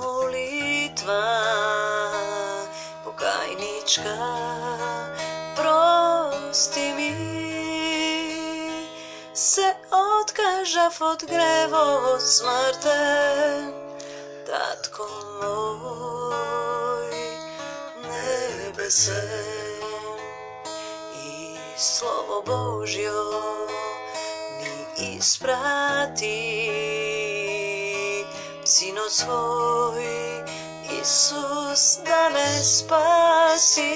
молитва покајничка, прости ми. Се откажав од гревот смртен, татко мој небесен, и Слово Божјо ми испрати, Синот свој Исус да ме спаси.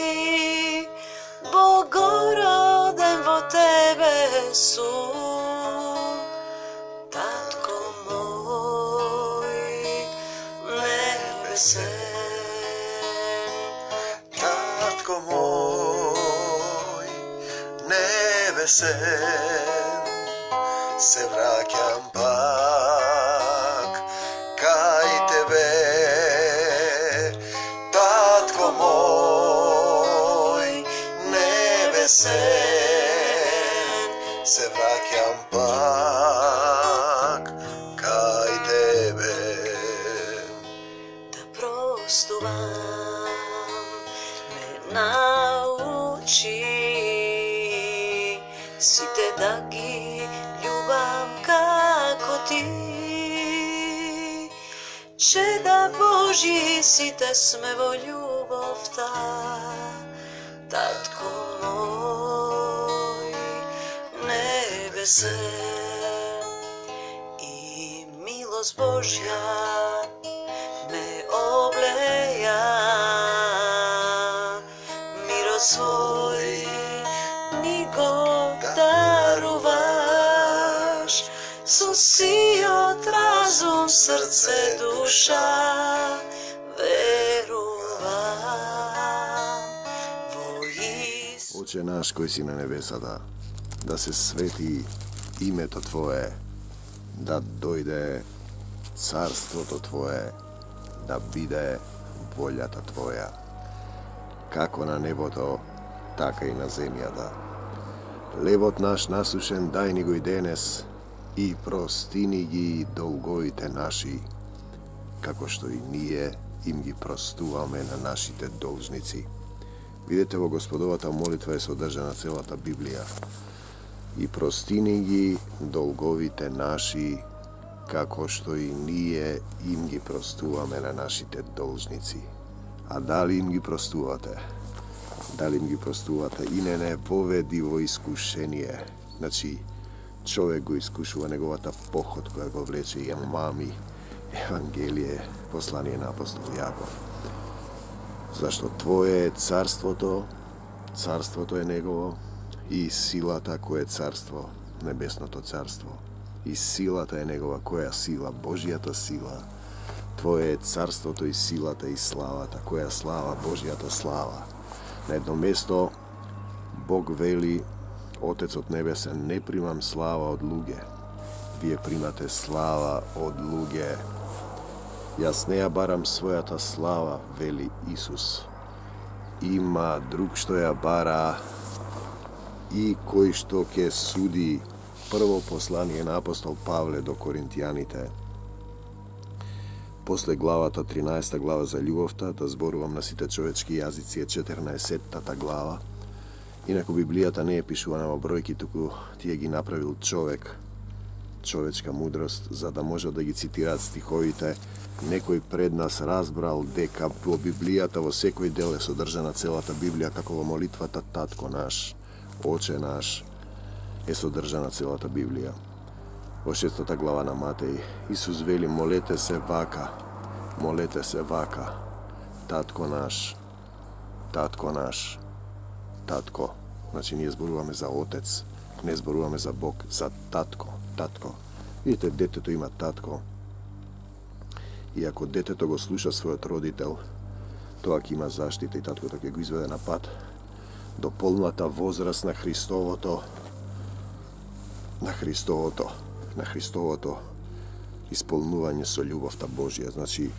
Богороден во Тебе сум, татко мој небесен. Татко мој небесен, се враќам пак кај Тебе. Татко мој небесен, се враќам пак кај Тебе. Да простувам ме научи, сите да ги љубам како Ти. Чеда Божји сите сме во љубовта, татко мој небесен, и милост Божја ме облеја, мирот свој ни го даруваш, со сиот разум, срце, душа, верувам во Исус. Отче наш кој си на небесата, да се свети името Твое, да дојде царството Твое, да биде волјата Твоја, како на небото, така и на земјата. Левот наш насушен дај ни го и денес, и простини ги долговите наши, како што и ние им ги простуваме на нашите должници. Видете, во Господовата молитва е содржана целата Библија. И простини ги долговите наши, како што и ние им ги простуваме на нашите должници. А дали им ги простувате? Дали им ги простувате? И не воведи во искушение. Значи, човек го искушува неговата поход која го влече и мами Евангелие, послание на апостол Јаков. Зашто Твое е царството, царството е Негово, и силата која е царство, небесното царство. И силата е Негова, која сила, Божјата сила. Твое е царството и силата и славата, која слава, Божјата слава. На едно место Бог вели, Отецот Небесен, не примам слава од луѓе, вие примате слава од луѓе. Јас не ја барам својата слава, вели Исус. Има друг што ја бара и кој што ќе суди. Прво послание на апостол Павле до Коринтијаните. После главата 13 глава за љубовта, да зборувам на сите човечки јазици, е 14-тата глава. Инаку Библијата не е пишувана во бројки, туку тие ги направил човек, човечка мудрост, за да може да ги цитираат стиховите. Некој пред нас разбрал дека во Библијата во секој дел е содржана целата Библија, како во молитвата Татко наш, Оче наш, е содржана целата Библија. Во 6 глава на Матеј, Исус вели, молете се вака, Татко наш, Татко наш, Татко. Значи, ние зборуваме за Отец, не зборуваме за Бог, за Татко, Татко. Видите, детето има татко. И ако детето го слуша својот родител, тоа ќе има заштита и таткото ќе го изведе на пат до полната возраст на Христовото, исполнување со љубовта Божја. Значи,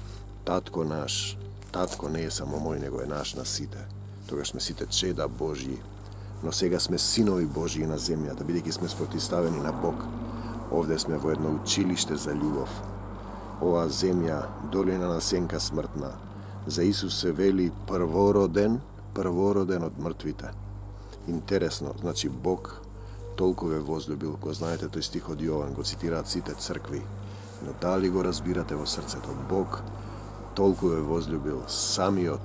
татко наш, татко не е само мој, него е наш на сите. Тогаш сме сите чеда Божји, но сега сме синови Божји на земјата, бидејќи сме спротивставени на Бог. Овде сме во едно училиште за љубов. оваа земја, долина на сенка смртна. За Исус се вели првороден од мртвите. Интересно, значи Бог толку ве возлюбил, го знаете тој стих од Јован, го цитираат сите цркви. Но дали го разбирате во срцето? Бог толку ве возлюбил, самиот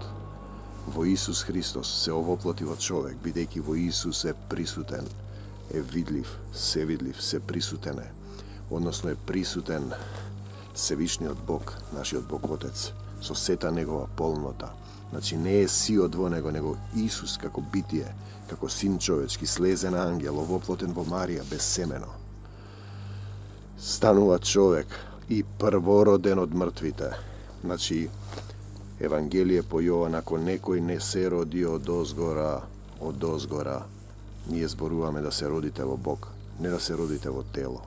во Исус Христос се овоплоти во човек, бидејќи во Исус е присутен, е видлив, се присутен е. Односно е присутен Севишниот Бог, нашиот Бог Отец, со сета негова полнота. Значи не е сиот во него, него Исус како битие, како син човечки, слезен ангел, овоплотен во Марија, безсемено. Станува човек и првороден од мртвите. Значи, Евангелие по Јован, ако некој не се роди од озгора, ние зборуваме да се родите во Бог, не да се родите во тело.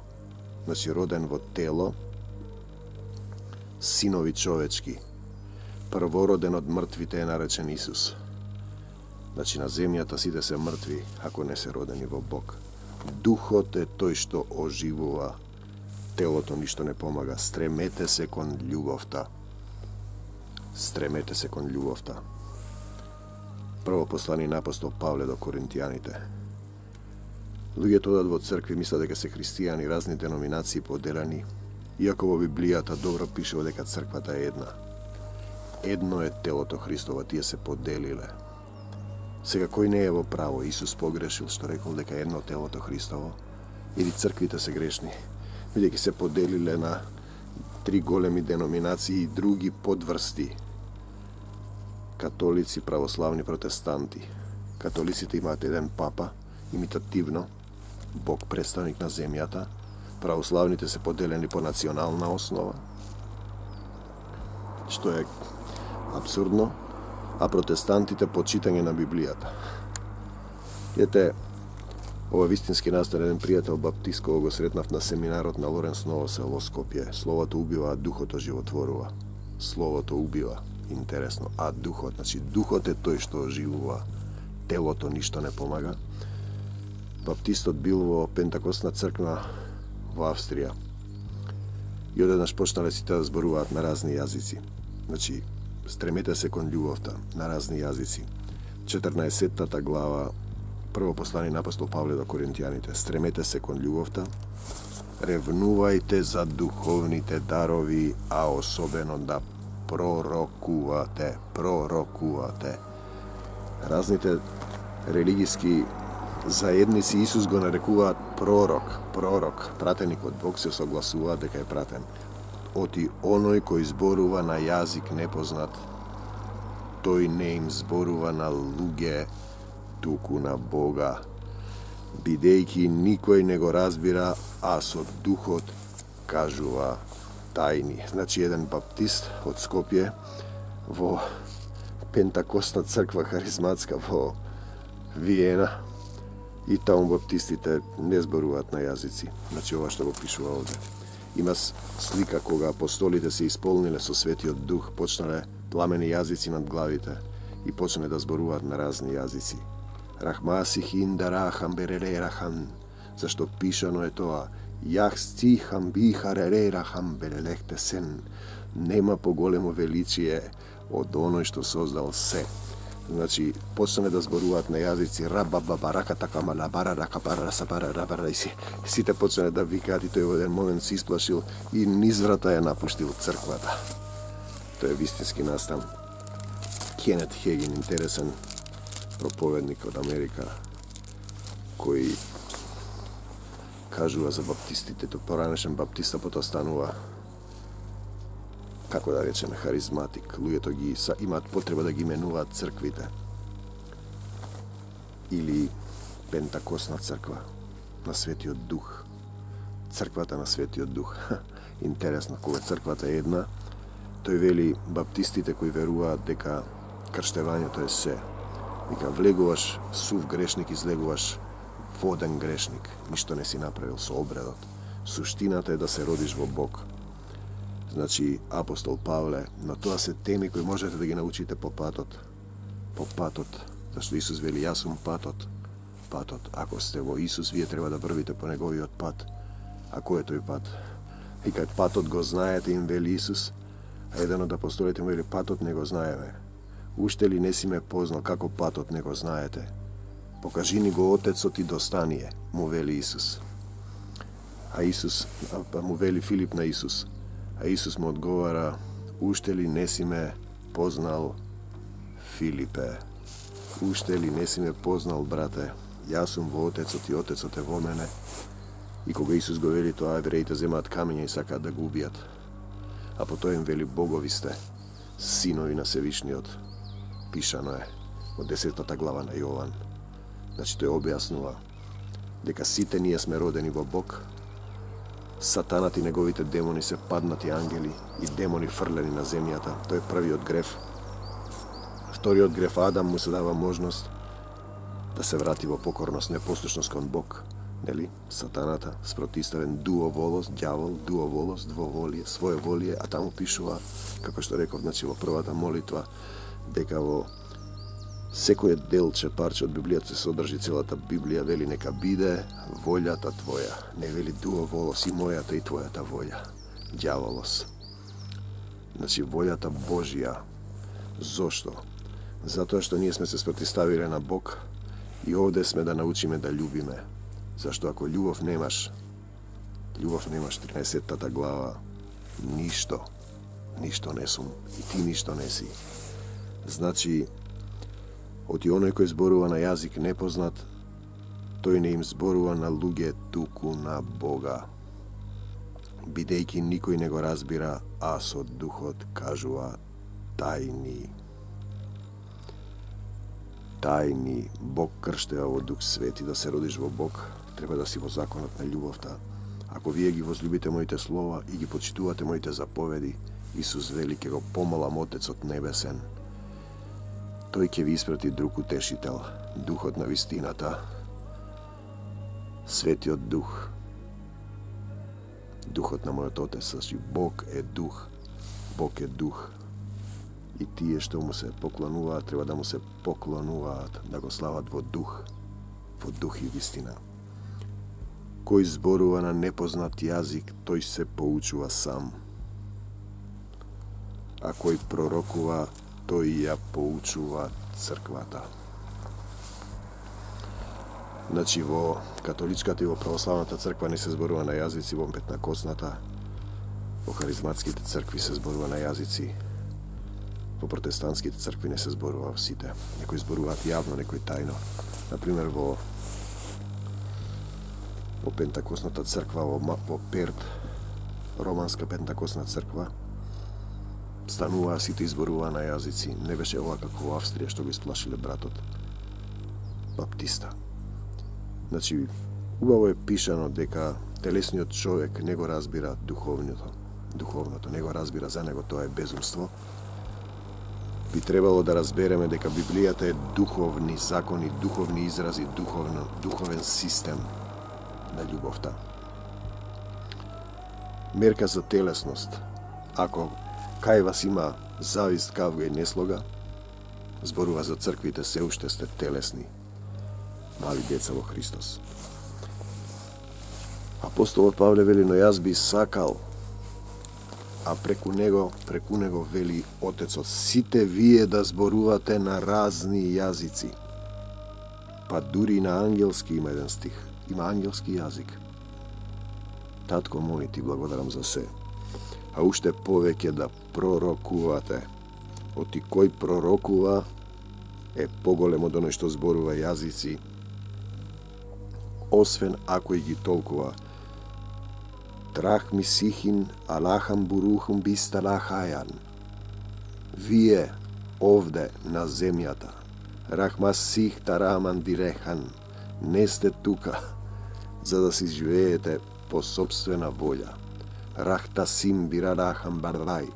Значи, роден во тело, синови човечки, првороден од мртвите е наречен Исус. Значи, на земјата сите се мртви, ако не се родени во Бог. Духот е тој што оживува, телото ништо не помага. Стремете се кон љубовта. Стремете се кон љубовта. Прво послание на апостол Павле до Коринтијаните. Луѓето одат во цркви, мислат дека се христијани, разни деноминации поделени, иако во Библијата добро пишува дека црквата е една. Едно е телото Христово, тие се поделиле. Сега кој не е во право? Исус погрешил што рекол дека е едно телото Христово? Или црквите се грешни? Бидејќи се поделиле на 3 големи деноминации и други подврсти. Католици, православни, протестанти. Католиците имаат еден папа, имитативно, Бог представник на земјата. Православните се поделени по национална основа, што е абсурдно, а протестантите по читање на Библијата. Ете, ова вистински настан еден пријател баптист кога го сретнав на семинарот на Лоренс Ново село Скопје. Словото убива, а духот оживотворува. Словото убива, интересно, а духот, значи духот е тој што оживува, телото ништо не помага. Баптистот бил во Пентакостна црква во Австрија и одеднаш почнале сите да зборуваат на разни јазици. Значи, стремете се кон љубовта на разни јазици. 14-тата глава, прво послание на апостол Павле до Коринтијаните. Стремете се кон љубовта, ревнувајте за духовните дарови, а особено да пророкувате. Разните религиски заедници Исус го нарекуваат пророк, пратеник од Бог, се согласуваат дека е пратен. Оти оној кој зборува на јазик непознат, тој не им зборува на луѓе, туку на Бога, бидејќи никој не го разбира, а со духот кажува тајни. Значи, еден баптист од Скопје во Пентакостна црква харизматска во Виена, и таму баптистите не зборуваат на јазици. Значи, ова што го пишува овде. Има слика кога апостолите се исполниле со Светиот Дух, почнале пламени јазици над главите и почнале да зборуваат на разни јазици. Рахмасихин дарахам берелерахам, зашто пишано е тоа. Јах стихам бихаререрахам берелехте сен. Нема поголемо величие од оној што создал се. Значи, почнале да зборуваат на јазици рабабабаракатакамалабараракабарасабарарабара и сите почнале да викаат и тој во еден момент се исплашил и низ врата ја напуштил црквата. Тој е вистински настан. Кенет Хегин, интересен проповедник од Америка, кој кажува за баптистите, тој поранешен баптиста, потоа станува, како да речеме, харизматик. Луѓето ги имаат потреба да ги именуваат црквите. Или Пентакостна црква на Светиот Дух. Црквата на Светиот Дух. Интересно, кога црквата е една, тој вели баптистите кои веруваат дека крштевањето е се. Вика, влегуваш сув грешник, излегуваш воден грешник. Ништо не си направил со обредот. Суштината е да се родиш во Бог. Значи, апостол Павле, но тоа се теми кои можете да ги научите по патот. По патот, зашто Исус вели, јас сум патот. Патот, ако сте во Исус, вие треба да врвите по неговиот пат. А кој е тој пат? И кај патот го знаете, им вели Исус, а еден од апостолите му вели, патот не го знаеме. Уште ли не си ме познал, како патот не го знаете? Покажи ни го Отецот и достание, му вели Исус. Му вели Филип на Исус. А Исус му одговара, уште ли не си ме познал, Филипе? Уште ли не си ме познал, брате? Јас сум во Отецот и Отецот е во мене. И кога Исус го вели тоа, евреите земаат камења и сакаат да го убијат. А потоа им вели, богови сте, синови на Севишниот. Пишано е од 10 глава на Јован. Значи тој објаснува дека сите ние сме родени во Бог. Сатанат и неговите демони се паднати ангели и демони фрлени на земјата. Тој е првиот греф. Вториот греф, Адам, му се дава можност да се врати во покорност, непослушност кон Бог. Нели? Сатаната, спротиставен дуоволост, ѓавол, дуоволост, двоволие, своеволие, а таму пишува, како што реков, значи во првата молитва, дека во секој делче, парче од Библијата се содржи целата Библија, вели нека биде волјата твоја. Не вели дуоволост и мојата и твојата волја. Ѓаволос. Значи волјата Божја. Зошто? Затоа што ние сме се спротиставиле на Бог и овде сме да научиме да љубиме. Зашто ако љубов немаш, 13 глава, ништо не сум и ти ништо не си. Значи, оти оној кој зборува на јазик непознат, тој не им зборува на луѓе, туку на Бога. Бидејќи никој не го разбира, а со духот кажува тајни. Тајни. Бог крштева во Дух Свети. Да се родиш во Бог, треба да си во законот на љубовта. Ако вие ги возлюбите моите слова и ги почитувате моите заповеди, Исус вели, ќе го помолам Отецот Небесен. Тој ќе ви испрати друг утешител, Духот на вистината, Светиот Дух, Духот на мојот Отец. Значи, Бог е Дух. Бог е Дух. И тие што му се поклонуваат, треба да му се поклонуваат, да го слават во дух и вистина. Кој зборува на непознат јазик, тој се поучува сам. А кој пророкува, тој ја поучува црквата. Значи, во католичката и во православната црква не се зборува на јазици, во петнакосната, во харизматските цркви се зборува на јазици, во протестантските цркви не се зборува сите. Некои зборуваат јавно, некои тајно. Например, во пентакосната црква, во Перт, романска пентакосна црква, стануваа сите изборуваа на јазици. Не беше ова како во Австрија, што го исплашиле братот баптиста. Значи, убаво е пишано дека телесниот човек не го разбира духовното не го разбира, за него тоа е безумство. Би требало да разбереме дека Библијата е духовни закони, духовни изрази, духовен систем на љубовта. Мерка за телесност. Ако кај вас има завист, кавга и неслога, зборува за црквите, се уште сте телесни, мали деца во Христос. Апостолот Павле вели, но јас би сакал, а преку него вели Отецот, сите вие да зборувате на разни јазици. Па дури на ангелски има еден стих. Има ангелски јазик. Татко мој, ти благодарам за се. А уште повеќе да пророкувате. Оти кој пророкува е поголем од оној што зборува јазици, освен ако и ги толкува. Трах ми сихин, алахам бурухум бисталахајан. Вие, овде, на земјата, рахма сих тараман дирехан, не сте тука, за да си живеете по собствена волја. Рахта сим бирарахам бардај,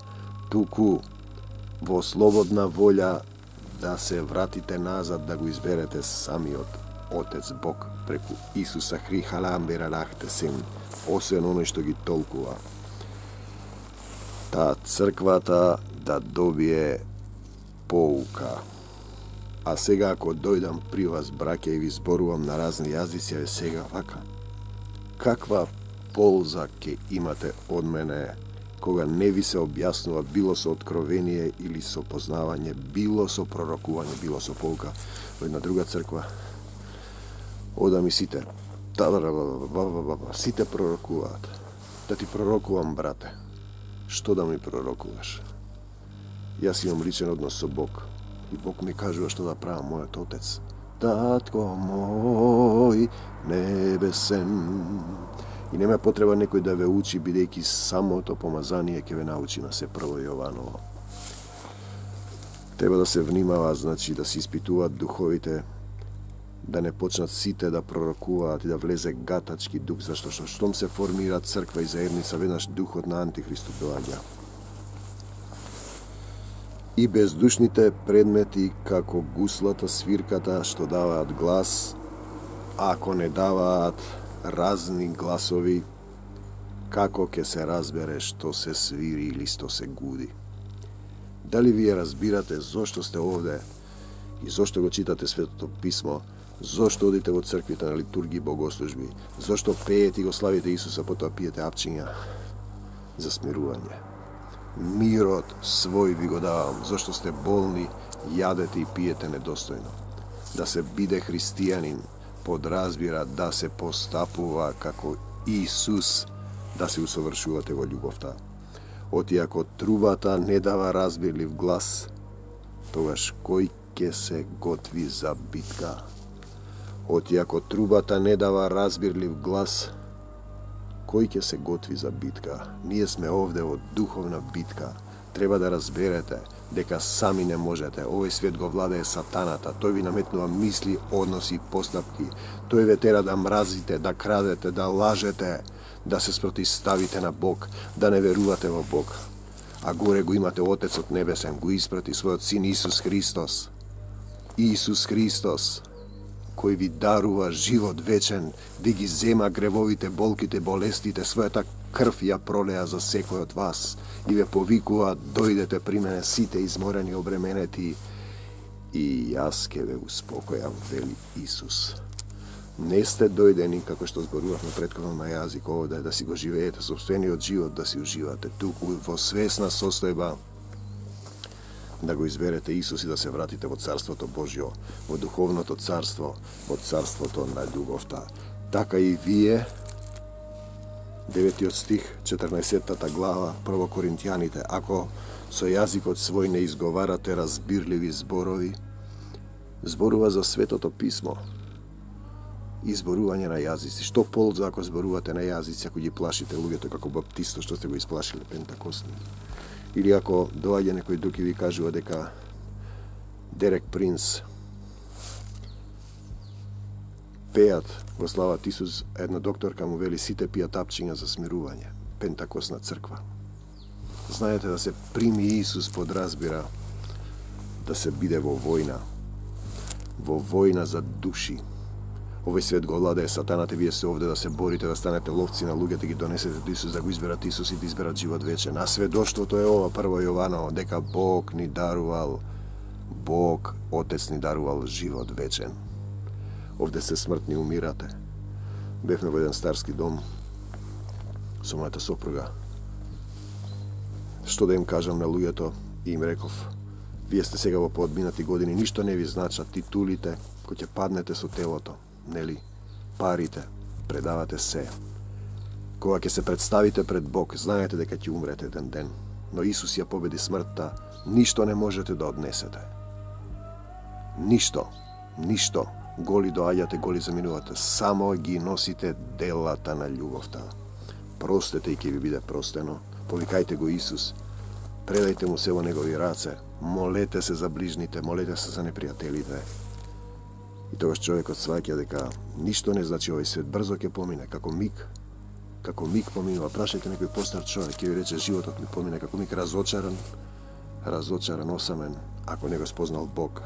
туку во слободна волја да се вратите назад, да го изберете самиот Отец Бог преку Исуса Хрихалам бирарахте сим, освен оној што ги толкува. Та црквата да добие поука. А сега ако дојдам при вас, браќа, и ви зборувам на разни јазици, сега вака. Каква полза ќе имате од мене, кога не ви се објаснува било со откровение или со познавање, било со пророкување, било со полка. Во една друга црква, одам и сите, сите пророкуваат. Да ти пророкувам, брате. Што да ми пророкуваш? Јас имам личен однос со Бог. И Бог ми кажува што да правам, мојот Отец. Татко мој небесен. И нема потреба некој да ве учи, бидејќи самото помазание ќе ве научи на се прво Јованово. Треба да се внимава, значи да се испитуваат духовите, да не почнат сите да пророкуваат и да влезе гатачки дух, зашто штом се формира црква и заедница, веднаш духот на Антихристот доаѓа. И бездушните предмети, како гуслата, свирката, што даваат глас, ако не даваат разни гласови, како ќе се разбере што се свири или што се гуди? Дали вие разбирате зошто сте овде и зошто го читате Светото Писмо, зошто одите во црквите на литургии и богослужби, зошто пеете и го славите Исуса, потоа пиете апчиња? За смирување. Мирот свој ви го давам, зашто сте болни, јадете и пиете недостојно. Да се биде христијанин подразбира да се постапува како Исус, да се усовршувате во љубовта. Оти ако трубата не дава разбирлив глас, тогаш кој ќе се готви за битка? Оти ако трубата не дава разбирлив глас, кој ќе се готви за битка? Ние сме овде во духовна битка. Треба да разберете дека сами не можете. Овој свет го владее сатаната. Тој ви наметнува мисли, односи, постапки. Тој ве тера да мразите, да крадете, да лажете, да се спротивставите на Бог, да не верувате во Бог. А горе го имате Отецот Небесен, го испрати својот Син Исус Христос. Исус Христос, кој ви дарува живот вечен, да ги зема гревовите, болките, болестите, својата крв ја пролеа за секој од вас и ве повикува, дојдете при мене сите изморени, обременети, и јас ке ве успокојам, вели Исус. Не сте дојдени, како што зборувавме претходно на јазик овде, да си го живеете собствениот живот, да си уживате туку во свесна состојба, да го изберете Исус и да се вратите во Царството Божјо, во духовното царство, во царството на љубовта. Така и вие, 9 стих, 14 глава, прво Коринтијаните, ако со јазикот свој не изговарате разбирливи зборови, зборува за Светото Писмо, изборување на јазици. Што полза ако зборувате на јазици, ако ги плашите луѓето како баптисто што сте го исплашиле пентакосни? Или ако доаѓа некој друг и ви кажува дека Дерек Принц пеат го слават Исус, една докторка му вели сите пијат апчиња за смирување, пентакосна црква. Знаете, да се прими Исус подразбира да се биде во војна за души. Овој свет го владее сатаната, вие се овде да се борите, да станете ловци на луѓето, ги донесете до Исус, да го изберат Исус и да изберат живот вечен. А сведоштвото е ова, прво Јованово, дека Бог ни дарувал, Бог, Отец ни дарувал живот вечен. Овде се смртни умирате. Бевме во еден старски дом со мојата сопруга. Што да им кажам на луѓето, и им реков, вие сте сега во поодминати години, ништо не ви значат титулите, кој ќе паднете со телото, нели, парите, предавате се. Кога ќе се представите пред Бог, знаете дека ќе умрете еден ден, но Исус ја победи смртта, ништо не можете да однесете. Ништо. Голи доаѓате, голи заминувате, само ги носите делата на љубовта. Простете и ќе ви биде простено, повикајте го Исус, предајте му се во негови раце, молете се за ближните, молете се за непријателите. И тогаш човекот сваќа дека ништо не значи овој свет, брзо ќе помине, како миг поминува. Прашајте некој постар човек, ќе ви рече животот ми помине како миг, разочаран, осамен, ако не го спознал Бог.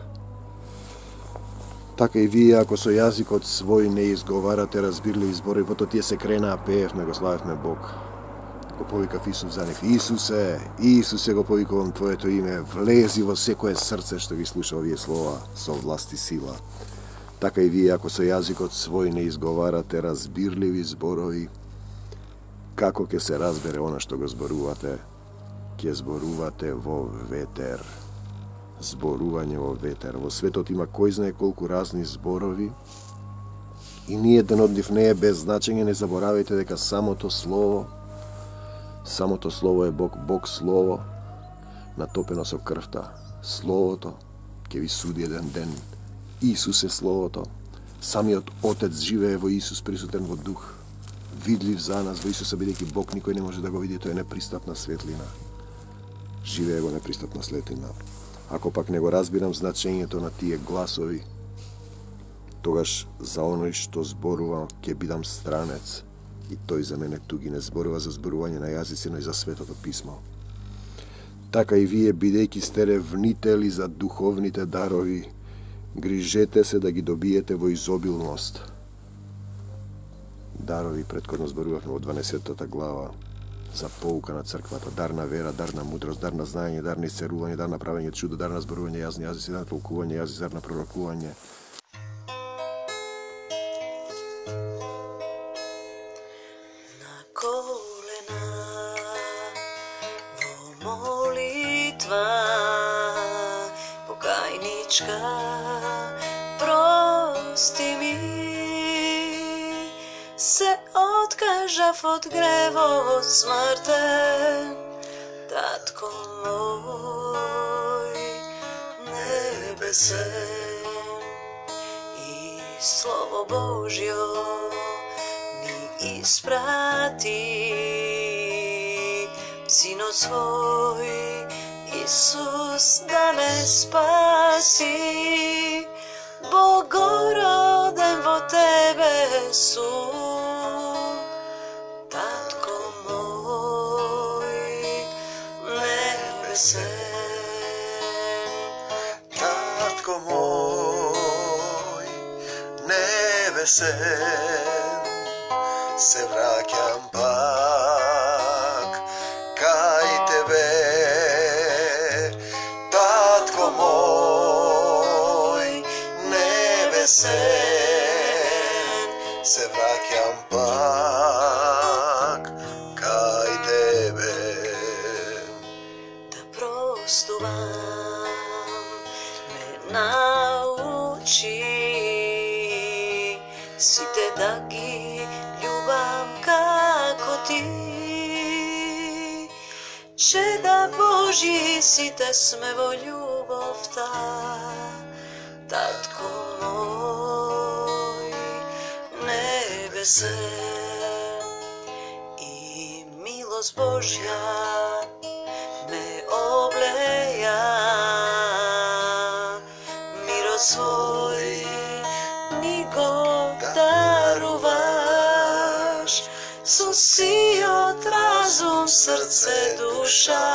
Така и вие, ако со јазикот свој не изговарате разбирливи зборови, потоа тие се кренаа, пеевме, го славевме Бог. Го повикав Исус за нив. Исусе, го повикувам Твоето име, влези во секое срце што ги слуша овие слова со власт и сила. Така и вие, ако со јазикот свој не изговарате разбирливи зборови, како ќе се разбере она што го зборувате? Ќе зборувате во ветер. Зборување во ветер. Во светот има кој знае колку разни зборови и ни еден од нив не е без значење. Не заборавајте дека самото слово е Бог слово, натопено со крвта. Словото ќе ви суди еден ден. Исус е словото. Самиот Отец живее во Исус, присутен во дух. Видлив за нас во Исуса, бидејќи Бог никој не може да го види, тој е непристапна светлина. Живее во непристапна светлина. Ако пак не го разбирам значењето на тие гласови, тогаш за оној што зборувам ќе бидам странец и тој за мене туги. Не зборува за зборување на јазици, но и за Светото писмо. Така и вие, бидејќи сте ревнители за духовните дарови, грижете се да ги добиете во изобилност. Дарови, предходно зборувавме во 12-та глава, за поука на црквата, дар на вера, дар на мудрост, дар на знаење, дар на исцелување, дар на правење чудо, дар на зборување јазни јазици, дар на толкување јазици, дар на пророкување. На колена во молитва покајничка прости ми, се откажав од гревот смртен, татко мој небесен, и Слово Божјо ми испрати, Синот свој Исус да ме спаси. Богороден во Тебе сум, татко мој небесен. Татко мој небесен, се враќам пак кај Тебе. Татко мој небесен, се враќам пак кај Тебе. Да простувам ме научи, сите да ги љубам како Ти, чеда Божји сите сме во љубовта, татко мој небесен, и милост Божја ме облеја, мирот свој ни го даруваш, со сиот разум, срце, душа,